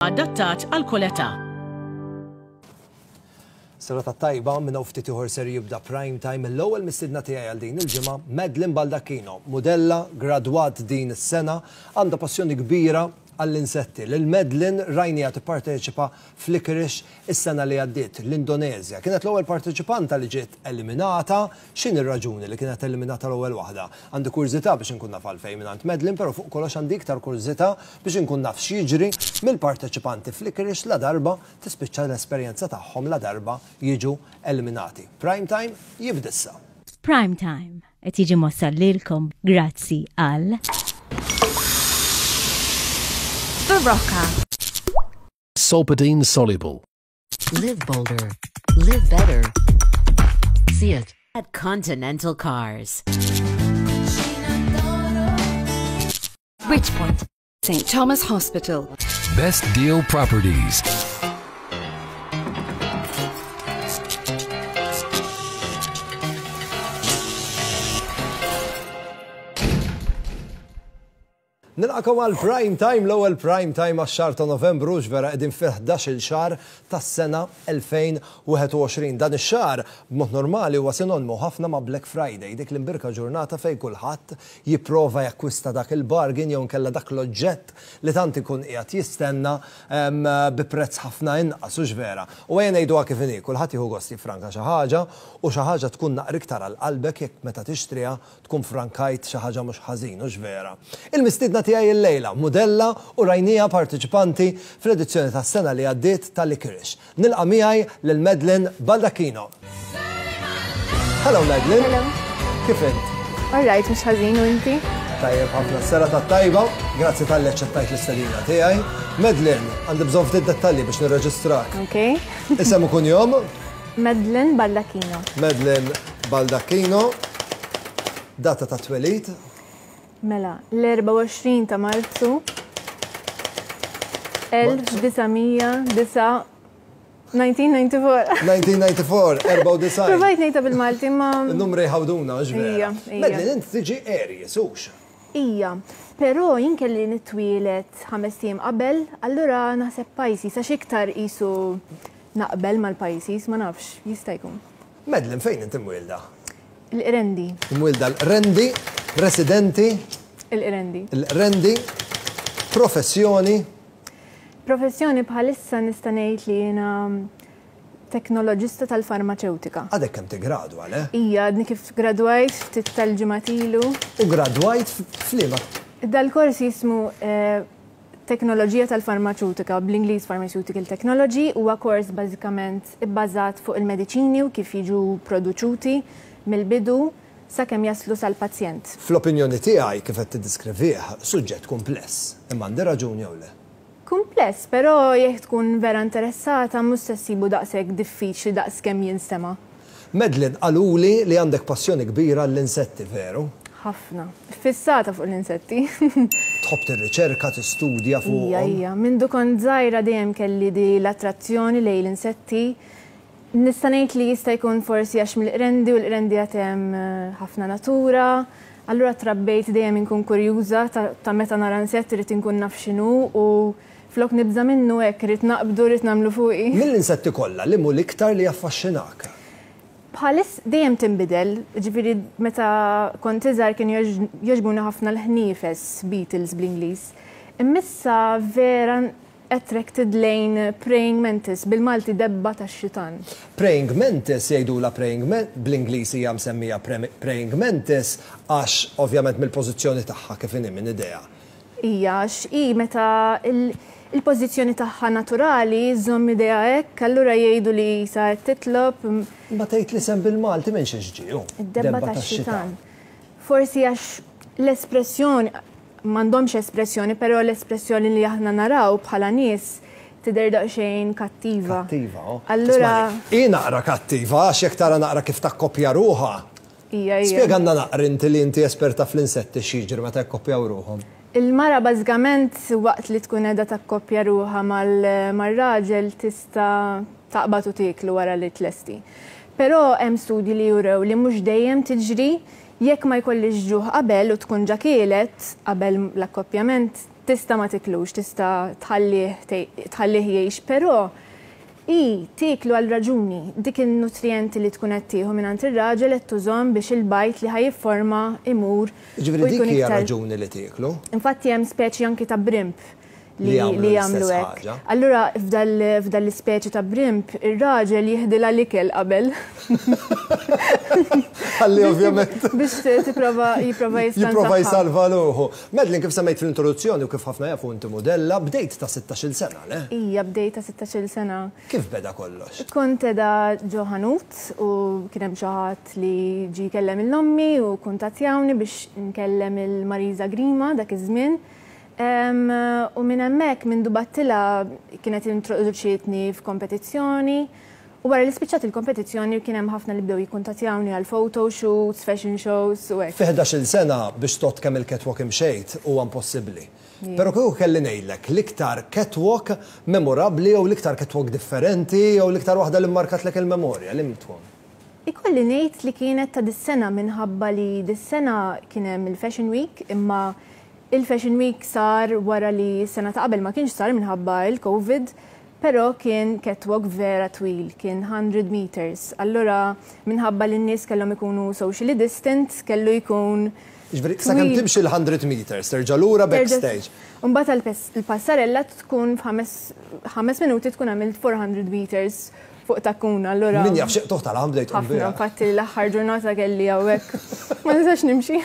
Adattat għal kull età. Serata tajba, minn hawn ftit ieħor ser jibda Prime Time. L-ewwel mistiedna tiegħi għal din il-ġimgħa, Madeline Baldacchino, mudella, gradwat din is-sena, għandha passjoni kbira għall-insetti. Lil Madeline rajniha tipparteċipa f'Licorice is-sena li għaddiet, l-Indoneżja. Kienet l-ewwel parteċipanta li ġiet eliminata. X'inhi r-raġuni li kienet eliminata l-ewwel waħda? Għandi kurżità biex inkun naf għalfejn mingħand Madeline, però fuq kollox għandi iktar kurżità biex inkun naf x'jiġri mill-parteċipanti f'Licorice ladarba tispiċċa l-esperjenza tagħhom ladarba jiġu eliminati. Prime Time jibda issa. Prime Time qed jiġi mwassal lilkom grazzi għal. Berocca. Solpadeine soluble. Live bolder. Live better. See it. At Continental Cars. Bridgepoint. St. Thomas Hospital. Best Deal Properties. Nilqakom għal Prime Time, l-ewwel Prime Time għax-xahar ta' Novembru, x'vera qegħdin fil-ħdax-il xahar tas-sena 2021. Dan ix-xahar b'mod normali huwa sinonimu ħafna ma' Black Friday, dik l-imbierka ġurnata fejn kulħadd jipprova jakkwista dak il-bargain jew inkella dak l-oġġett li tant ikun qiegħed jistenna bi prezz ħafna inqas, hux vera? U ejja ngħiduha kif inhi, kulħadd jieħu gost jiffranka xi ħaġa u xi ħaġa tkun naqra iktar għal qalbek jekk meta tixtriha Tkun frankajt xi ħaġa mhux ħażin, hux vera? Il-mistiedna tiegħi illejla, mudella u rajnieha parteċipanti fl-edizzjoni tas-sena li għaddiet ta' Licorice. Nilqa' miegħi lil Madeline Baldacchino. Hello Madeline. Hello. Kif int? All right, mhux ħażin u inti? Tajjeb ħafna s-serata tajba, grazzi talli aċċettajt l-istedina tiegħi. Madeline, għandi bżonn ftit dettalji biex nirreġistrak. Ok. Isem u kunjom? Madeline Baldacchino. Madeline Baldacchino. Data ta' twelid? Mela, l-24 ta' Marzu 1994. 1994, 94. Provajt ngħidha bil-Malti ma. Il-numri jħawduna, hux vera? Ija, ija. Madeline, int tiġi Aries, hux? Ija, però jien kelli nitwieled ħamest ijiem qabel, allura naħseb Pisces għax iktar qisu naqbel mal-Pisces, ma nafx, jista' jkun. Madeline, fejn int imwielda? Il-Qrendi. Imwielda l-Qrendi, residenti? Il-Qrendi. Il-Qrendi, professjoni? Professjoni bħalissa nista' ngħid li jiena teknoloġista tal-farmaċewtika. Għadek kemm tiggradwa, le? Ija, għadni kif gradwajt ftit tal-ġimgħat ilu. U gradwajt f'liema? Dal-kors jismu Teknoloġija tal-Farmaċewtika, bl-Ingliż Pharmaceutical Technology, huwa kors bażikament ibbażat fuq il-mediċini u kif jiġu produċuti mill-bidu sakemm jaslu sal-pazjent. Fl-opinjoni tiegħi, kif qed tiddiskrivih, suġġett kumpless. Imma għandi raġun jew le? Kumpless, però jekk tkun vera interessata mhux se ssibu daqshekk diffiċli daqs kemm jinstema'. Madeline, qaluli li għandek passjoni kbira għall-insetti, veru? Ħafna. Iffissata fuq l-insetti. Tħobb tirriċerka, tistudja fuqhom? Ija, ija. Mindu kont żgħira dejjem kelli di l-attrazzjoni lejn l-insetti. Nista' ngħid li jista' jkun forsi għax mill-Qrendi u l-Qrendi għad hemm ħafna natura. Allura trabbejt dejjem inkun kurjuża ta' meta nara insett irrid inkun naf x'inhu u flok nibża' minnu hekk irrid naqbdu rrid nagħmlu fuqi. Mill-insetti kollha liema hu l-iktar li jaffaxxinak? Bħaliss dejjem tinbidel, jiġifieri meta kont iżgħar kienu jogħġbuni ħafna l-ħniefes, beetles bl-Ingliż. Imma issa vera Attracted lejn praying mantis, bil-Malti debba tax-xitan. Praying mantis jgħidulha praying bl-Ingliż hija msemmija praying mantis għax ovvjament mill-pożizzjoni tagħha kif inhi minn idejha. Hija għax hi meta il-pożizzjoni tagħha naturali żżomm idejha hekk allura jgħidu li qisha qed titlob. Imma tgħid l-isem bil-Malti minn xiex ġie hu? Id-debba tax-xitan. Forsi għax l-espressjoni, M'għandhomx espressjoni, però l-espressjoni li aħna naraw bħala nies tidher daqsxejn kattiva. Kattiva, oh. Allura. Hi naqra kattiva għax jekk tara naqra kif takkoppja ruħha. Hija, hija. Spjegalna naqra inti li inti esperta fl-insetti x'jiġri meta jakkoppjaw ruħhom. Il-mara bażikament waqt li tkun qiegħda takkoppja ruħha mar-raġel tista' taqbad u tieklu wara li tlesti. Però hemm studji li jurew li mhux dejjem tiġri Jekk ma jkollhiex ġuħ qabel u tkun ġa kielet qabel l-akkoppjament, Tista' ma tiklux, tista' tħallih tħallih jgħix, però hi tieklu għal raġuni. Dik in-nutrijenti li tkun qed tieħu mingħand ir-raġel qed tużhom biex il-bajd li ħa jifforma imur u Jiġifieri dik jkun hija iktar. raġuni li tieklu? Infatti hemm speċi anki ta' brimp Li li jagħmlu li l-istess jagħmlu hekk. ħaġa. Allura f'dal f'dal-ispeċi ta' brimp ir-raġel jieħdilha l-ikel qabel. Ħalli ovvjament. Biex tipprova jipprova jiskansa. Jipprova jsalva ruħu. Madeline, kif semmejt fl-introduzzjoni u kif ħafna jafu inti mudella, bdejt ta' 16-il sena, le? Ija, bdejt ta' 16-il sena. Kif beda kollox? Kont qiegħda ġo ħanut u kien hemm xi ħadd li ġie jkellem lil ommi u kkuntattjawni biex nkellem il Marisa Grima dak iż-żmien. U minn hemmhekk mindu battilha kienet introduċietni f'kompetizzjoni u wara li spiċċat il-kompetizzjoni kien hemm ħafna li bdew jikkuntattjawni għal photo shoots, fashion shows u hekk. Fi 11-il sena biex tgħodd kemm il-catwalk imxejt huwa impossibbli. Però kieku kelli ngħidlek l-iktar catwalk memorabbli jew l-iktar catwalk differenti jew l-iktar waħda li mmarkatlek il-memorja, liem tkun? Ikolli ngħid li kienet ta' dis-sena minħabba li dis-sena kien hemm il-Fashion Week imma Il-Fashion Week sar wara li s-sena ta' qabel ma kienx sar minħabba il-Covid, però kien catwalk vera twil, kien 100 meters. Allura minħabba li n-nies kellhom ikunu socially distant, kellu jkun Jiġifieri sakemm timxi l-100 meters, terġa' lura backstage. U mbagħad għall-passarella tkun f'ħames minuti tkun għamilt 400 meters fuq takkuna, allura. Min jaf xi qtugħ tal-għam bdejt tqum biha. Ħafna, infatti l-aħħar ġurnata kelli hawnhekk. Ma nistax nimxi.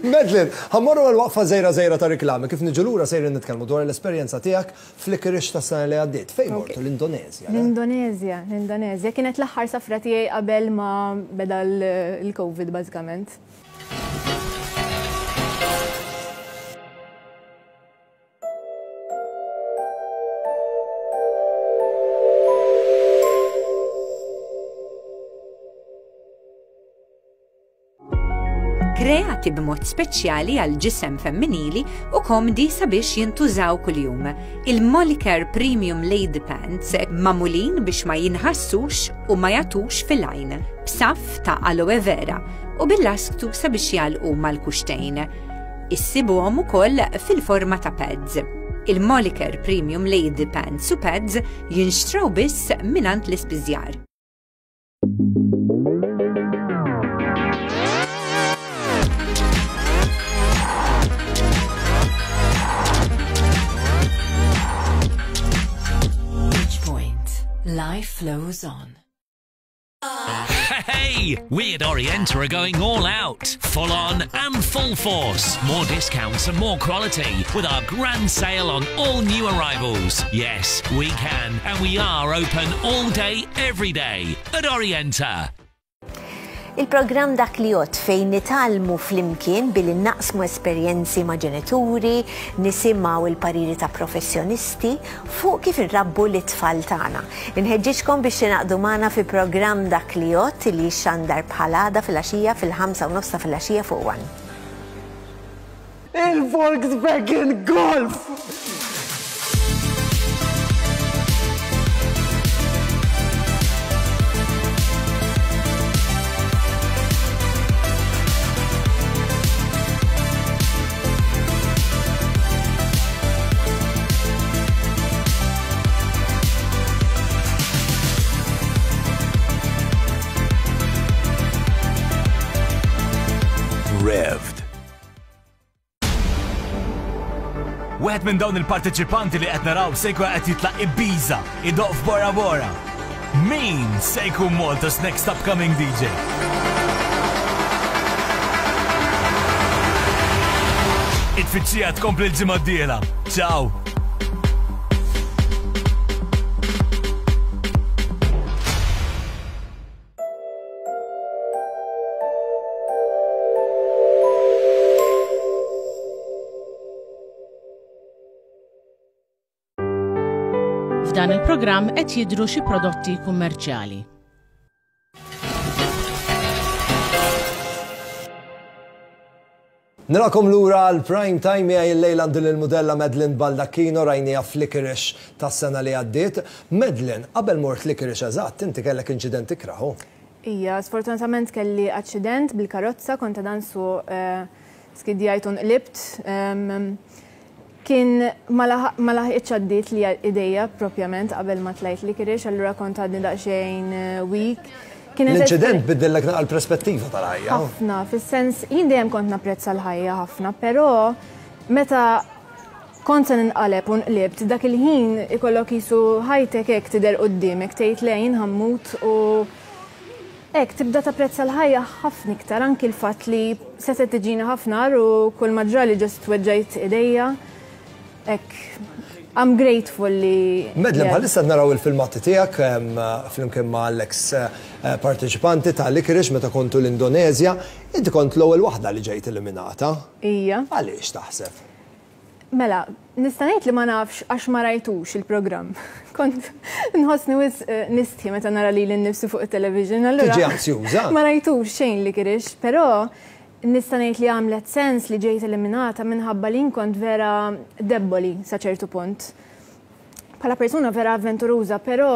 Madeline, ħa mmorru għal waqfa żgħira żgħira ta' riklami. Kif niġu lura sejrin nitkellmu dwar l-esperjenza tiegħek fl-Licorice tas-sena li għaddiet. Fejn mortu? L-Indoneżja, le? L-Indoneżja, l-Indoneżja. Kienet l-aħħar safra tiegħi qabel ma beda l-Covid bażikament. Kreati b'mod speċjali għal ġisem femminili u komdi sabiex jintużaw kuljum. Il-Molicare Premium Lady Pants magħmulin biex ma jinħassux u ma jagħtux fil-għajn, b'saff ta' aloe vera u bil-lasktu sabiex jagħlqu mal-kuxtejn. Issibuhom ukoll fil-forma ta' pads. Il-Molicare Premium Lady Pants u Pads jinxtraw biss mingħand l-ispiżjar. Life flows on. Hey! We at Orienta are going all out, full on and full force. More discounts and more quality with our grand sale on all new arrivals. Yes, we can, and we are open all day, every day at Orienta. Il-programm Dak li Jgħodd fejn nitgħallmu flimkien billi naqsmu esperjenzi ma' ġenituri, nisimgħu l-pariri ta' professjonisti fuq kif inrabbu lit-tfal tagħna. Inħeġġiġkom biex tingħaqdu magħna fi programm Dak li Jgħodd li jixxandar bħal għada filgħaxija fil-ħamsa u nofs ta' filgħaxija fuq One. Il-Volkswagen Golf! Revved. Wieħed minn dawn il-parteċipanti li qed naraw se jkun qed jitlaq Ibiza idoqq f'Bora Bora. Min se jkun Malta's next upcoming DJ? It-tfittxija tkompli l-ġimgħa d-dieħla. Ciao! F'dan il-programm qed jidhru xi prodotti kummerċjali. Nilqagħkom lura għal Prime Time miegħi illejla għandi lill-mudella Madeline Baldacchino rajniha f'Licorice tas-sena li għaddiet. Madeline, qabel mort Licorice eżatt, inti kellek inċident ikrah, hu? Ija, sfortunatament kelli aċċident bil-karozza, kont għadha nsuq skidjajt u nqlibt. Kien ma laħqitx għaddiet li idejja propjament qabel ma tlajt Licorice, allura kont għadni daqsxejn weak. L-inċident biddillek naqra l-perspettiva tal-ħajja. Ħafna, fis-sens jien dejjem kont napprezza l-ħajja ħafna, però meta kont se ninqaleb u nqlibt, dak il-ħin ikollok qisu ħajtek hekk tidher quddiemek, tgħid le jien ħa mmut u Hekk tibda tapprezza l-ħajja ħafna iktar, anki l-fatt li setgħet tiġini ħafna agħar u kull ma ġrali just weġġajt idejja. Hekk, I'm grateful li. Madeleine, bħalissa qed naraw il-filmati tiegħek flimkien ma' l-eks parteċipanti ta' Licorice meta kontu l-Indoneżja. Inti kont l-ewwel waħda li ġejt eliminata. Ija. Għaliex taħseb? Mela, nista' ngħid li ma nafx għax ma rajtux il-programm. Kont nħossni wisq nistħi meta nara lili nnifsi fuq it-television, allura. Tiġi anzjuża. Ma rajtux xejn li kirix, però nista' ngħid li għamlet sens li ġejt eliminata minħabba li jien kont vera debboli sa ċertu punt. Bħala persuna vera avventuruża, però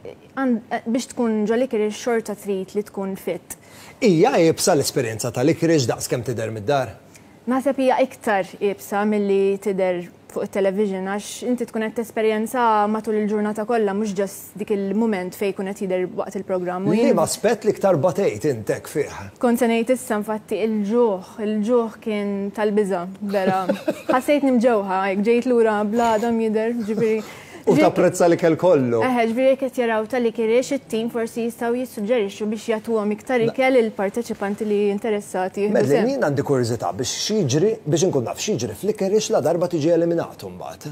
biex tkun ġo Licorice xorta trid li tkun fit. Hija iebsa l-esperjenza ta' Licorice daqs kemm tidher mid-dar? Naħseb hija iktar iebsa milli tidher fuq it-television għax inti tkun qed tesperjenzaha matul il-ġurnata kollha mhux just dik il-mument fejn jkun qed jidher waqt il-programm u jien Liema aspett l-iktar batejt int hekk fih? Kont se ngħid issa infatti il-ġuħ, il-ġuħ kien tal-biża' vera. Ħassejtni mġewħa hekk ġejt lura bl-għadam jidher, ġifieri U tapprezza l-ikel kollu. Eħe, ġifieri jekk qed jaraw tal-ikel it-tim forsi jistgħu jissuġġerixxu biex jagħtuhom iktar ikel lill-parteċipanti li interessati jieħdu sehem. Madeleine, jien għandi kurżità biex x'jiġri, biex inkun naf x'jiġri fl-Licorice la darba tiġi eliminat imbagħad.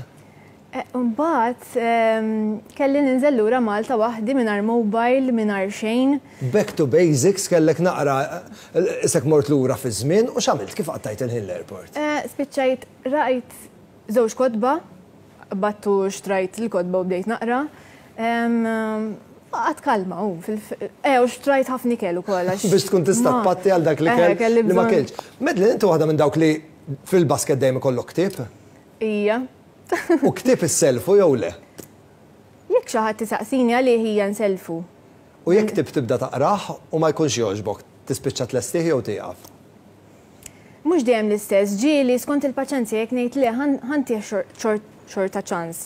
Imbagħad kelli ninżel lura Malta waħdi mingħajr mobile, mingħajr xejn. Back to basics, kellek naqra isek mort lura fiż-żmien u x'għamilt, kif qattajt il-ħin l-airport? Spiċċajt rajt żewġ kotba, qbadt u xtrajt il-kotba u bdejt naqra. Baqgħet kalma u eh u xtrajt ħafna ikel ukoll għax. Biex tkun tista' tpatti għal dak l-ikel li ma kiltx. Madeleine, inti waħda minn dawk li fil-basket dejjem ikollok ktieb? Ija. U ktieb issellfu jew le? Jekk xi ħadd isaqsini għalih hija nsellfu. U jekk ktieb tibda taqrah u ma jkunx jogħġbok, tispiċċa tlestih jew tieqaf? Mhux dejjem l-istess, ġieli skont il-paċenzja jekk ngħid le ħa ntih xorta ċans.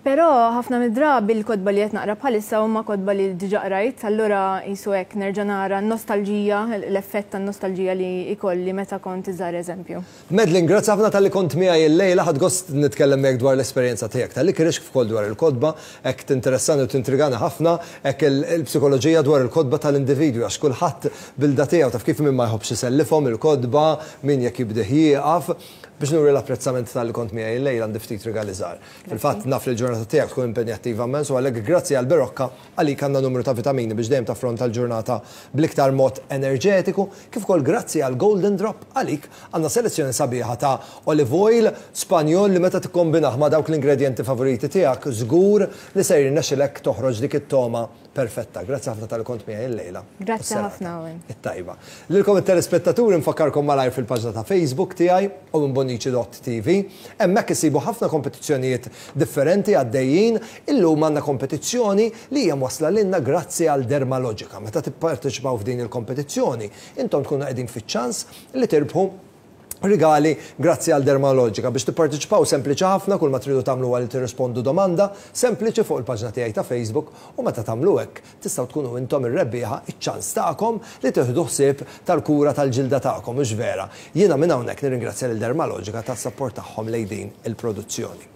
Però ħafna mid-drabi l-kotba li qed naqra bħalissa huma kotba li diġà qrajt, allura qisu hekk nerġa' nara n-nostalġija, l-effett tan-nostalġija li jkolli meta kont iżgħar eżempju. Madeline, grazzi ħafna talli kont miegħi illejla, ħadt gost nitkellem miegħek dwar l-esperjenza tiegħek tal-Licorice kif ukoll dwar il-kotba, hekk tinteressani u tintrigani ħafna hekk il-psikoloġija dwar il-kotba tal-individwi għax kulħadd bil-da tiegħu taf kif min ma jħobbx isellifhom il-kotba, min jekk jibdih jieqaf. Biex nuri l-apprezzament talli kont miegħi illejla għandi ftit rigali żgħar. Fil-fatt naf li l-ġurnata tiegħek tkun impenjattiva immens u għalhekk grazzi għal Berocca għalik għandna numru ta' vitamini biex dejjem taffronta l-ġurnata bl-iktar mod enerġetiku, kif ukoll grazzi għal Golden Drop għalik għandna selezzjoni sabiħa ta' olive oil Spanjol li meta tikkombinah ma' dawk l-ingredjenti favoriti tiegħek żgur li se jirnexxilek toħroġ dik it-togħma perfetta. Grazzi ħafna talli kont miegħi illejla. Grazzi ħafna Owen. It-tajba. Lilkom it-telespettaturi nfakkarkom malajr fil-paġna ta' Facebook tiegħi owenbonnici.tv. Hemmhekk issibu ħafna kompetizzjonijiet differenti għaddejjin. Illum għandna kompetizzjoni li hija mwassla lilna grazzi għal Dermalogica. Meta tipparteċipaw f'din il-kompetizzjoni, intom tkunu qegħdin fiċ-ċans li tirbħu rigali grazzi għal Dermalogica. Biex tipparteċipaw sempliċi ħafna, kull ma tridu tagħmlu huwa li tirrispondu domanda sempliċi fuq il-paġna tiegħi ta' Facebook u meta tagħmlu hekk tistgħu tkunu intom ir-rebbieħa, iċ-ċans tagħkom li tieħdu ħsieb tal-kura tal-ġilda tagħkom, hux vera? Jiena minn hawnhekk nirringrazzja lil Dermalogica tas-sapport tagħhom lejn din il-produzzjoni.